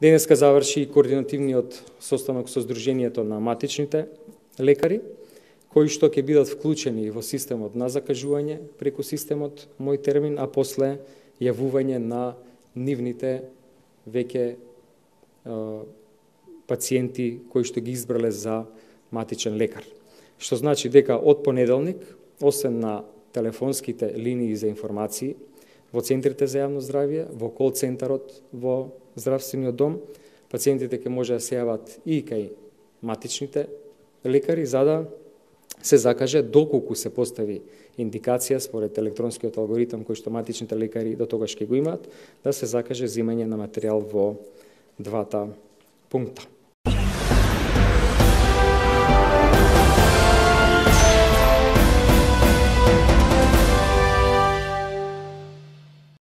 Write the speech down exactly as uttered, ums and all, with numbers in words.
Денеска заврши координативниот состанок со Сдруженијето на матичните лекари, кои што ќе бидат вклучени во системот на закажување преку системот Мој термин, а после јавување на нивните веќе пациенти кои што ги избрале за матичен лекар. Што значи дека од понеделник, освен на телефонските линии за информации во центрите за јавно здравје, во кол центарот во здравствениот дом, пациентите ќе може да се јават и кај матичните лекари за да се закаже доколку се постави индикација според електронскиот алгоритам кој што матичните лекари до тогаш ќе го имаат, да се закаже земање на материјал во двата пункта.